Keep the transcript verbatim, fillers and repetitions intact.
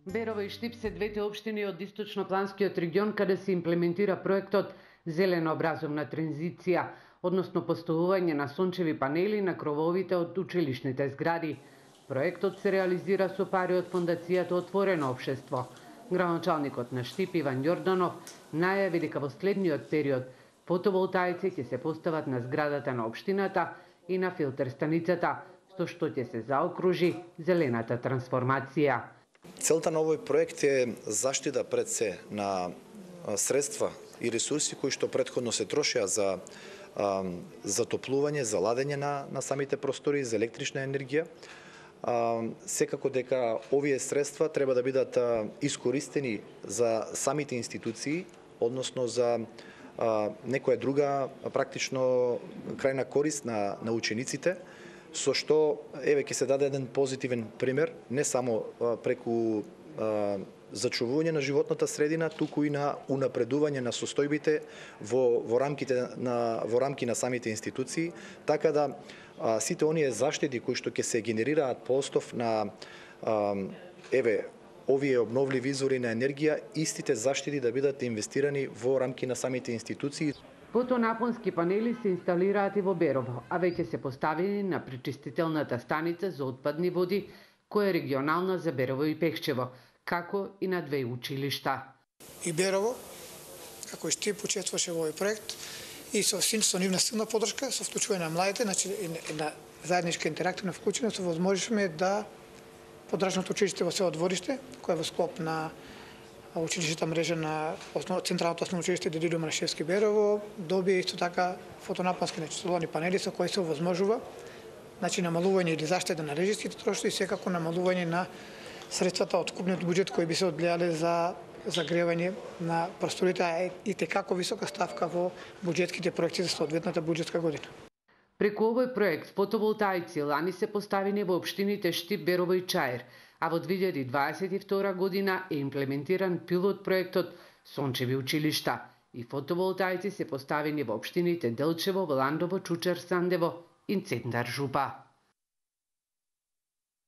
Берово и Штип се двете општини од источнопланскиот регион каде се имплементира проектот Зелена образовна транзиција, односно поставување на сончеви панели на крововите од училишните згради. Проектот се реализира со пари од фондацијата Отворено општество. Градоначалникот на Штип Иван Јорданов најави дека во следниот период фотоволтаици ќе се постават на зградата на општината и на филтер станицата, со што ќе се заокружи зелената трансформација. Целта на овој проект е заштита пред се на средства и ресурси кои што претходно се трошеа за затоплување, за ладење на, на самите простори, за електрична енергија. Секако дека овие средства треба да бидат искористени за самите институции, односно за некоја друга практично крајна корист на, на учениците, со што еве ќе се даде еден позитивен пример, не само преку зачувување на животната средина, туку и на унапредување на состојбите во во рамките на во рамки на самите институции, така да а, сите оние заштити кои што ќе се генерираат по основ на а, еве овие обновливи извори на енергија, истите заштити да бидат инвестирани во рамки на самите институции. Фотонапонски панели се инсталираат и во Берово, а веќе се поставени на пречистителната станица за отпадни води, која е регионална за Берово и Пехчево, како и на две училишта. И Берово, како и Штип, учествуваше во овој проект и со со нивна силна подршка, со вклучување на младите, значи една заедничка интерактивна вклученост, возможивме да подрачното училиште во село Двориште, кој е во склоп на училишната мрежа на основ, Централното основно училиште Дедилјо Марашевски Берово, добие исто така фотонапонски, значи соларни панели со кои се овозможува значи намалување или заштеда на режиските трошоци и секако намалување на средствата од купниот буџет кои би се одделале за загревање на просторите, а и текако висока ставка во буџетските проекти за соодветната буџетска година. Преку овој проект фотоволтаици лани се поставени во општините Штип, Берово и Чаир, а во две илјади дваесет и втора година е имплементиран пилот проектот Сончеви училишта и фотоволтаици се поставени во општините Делчево, Ландово, Чучер, Сандево и Цендар Жупа.